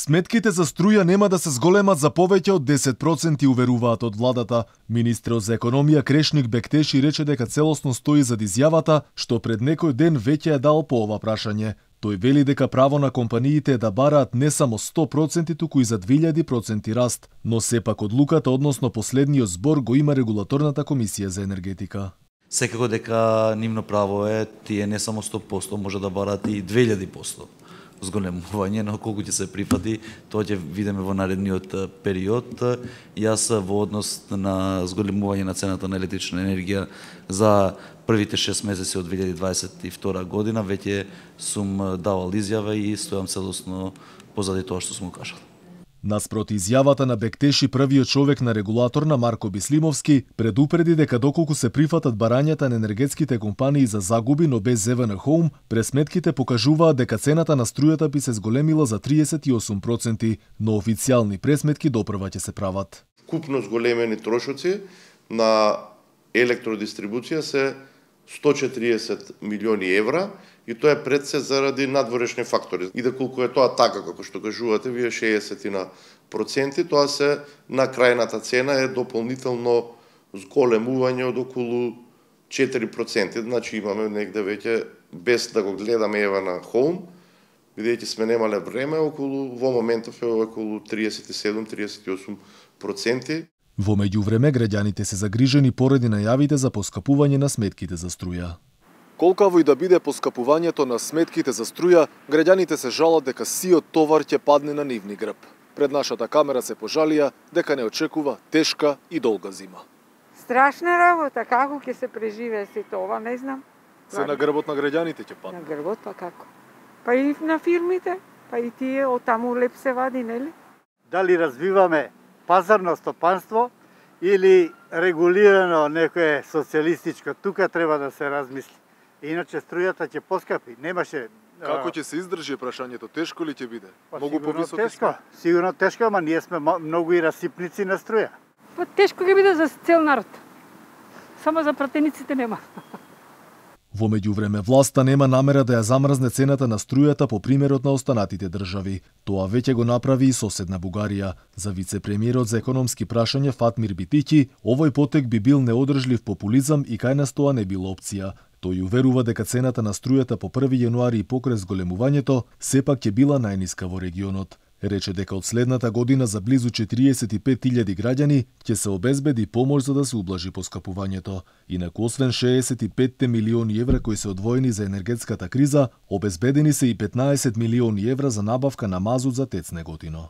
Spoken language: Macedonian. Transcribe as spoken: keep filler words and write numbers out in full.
Сметките за струја нема да се зголемат за повеќе од десет проценти, уверуваат од владата. Министерот за економија Крешник Бектеши рече дека целосно стои зад изјавата што пред некој ден веќе е дал по ова прашање. Тој вели дека право на компаниите е да бараат не само сто проценти, туку и за две илјади проценти раст, но сепак одлуката односно последниот збор го има регулаторната комисија за енергетика. Секако дека нивно право е тие не само сто проценти, може да бараат и две илјади проценти. Зголемување, но колку ќе се прифати, тоа ќе видиме во наредниот период. Јас во однос на зголемување на цената на електрична енергија за првите шест месеци од две илјади дваесет и втора година веќе сум давал изјава и стојам целосно позади тоа што сум кажал. Наспроти изјавата на Бектеши, првиот човек на регулатор на Марко Бислимовски предупреди дека доколку се прифатат барањата на енергетските компании за загуби, но без ЕВН Home, пресметките покажуваат дека цената на струјата би се зголемила за триесет и осум проценти, но официјални пресметки допрва ќе се прават. Купно зголемени трошоци на електродистрибуција се сто четириесет милиони евра, и тоа е пред се заради надворешни фактори. И доколку е тоа така, како што кажувате, вие шеесет проценти, тоа се на крајната цена е дополнително зголемување од околу четири проценти. Значи имаме негде веќе, без да го гледаме ЕВН Home, бидејќи сме немале време, околу, во моментов е околу триесет и седум до триесет и осум проценти. Во меѓувреме, граѓаните се загрижени поради најавите за поскапување на сметките за струја. Колкаво и да биде поскапувањето на сметките за струја, граѓаните се жалат дека сиот товар ќе падне на нивни грб. Пред нашата камера се пожалија дека не очекува тешка и долга зима. Страшна работа, како ќе се преживее сето ова, не знам. Се на грбот на граѓаните ќе падне. На грбот, па како? Па и на фирмите, па и тие од таму леп се вади, нели? Дали развиваме пазарно стопанство или регулирано некое социјалистичко, тука треба да се размисли. Иначе струјата ќе поскапи. Немаше. Како ќе се издржи прашањето? Тешко ли ќе биде? Па, многу повисоки тешко. Сигурно тешко, ама ние сме многу и расипници на струја. Па тешко ќе биде за цел народ. Само за пратениците нема. Во меѓувреме, власта нема намера да ја замрзне цената на струјата по примерот на останатите држави. Тоа веќе го направи и соседна Бугарија. За вице-премиерот за економски прашања Фатмир Битики, овој потек би бил неодржлив популизам и кај нас тоа не била опција. Тој уверува дека цената на струјата по први јануари и покрај зголемувањето сепак ќе била најниска во регионот. Рече дека од следната година за близу четириесет и пет илјади граѓани ќе се обезбеди помош за да се ублажи поскапувањето. Инаку освен шеесет и пет милиони евра кои се одвоени за енергетската криза, обезбедени се и петнаесет милиони евра за набавка на мазут за ТЕЦ Неготино.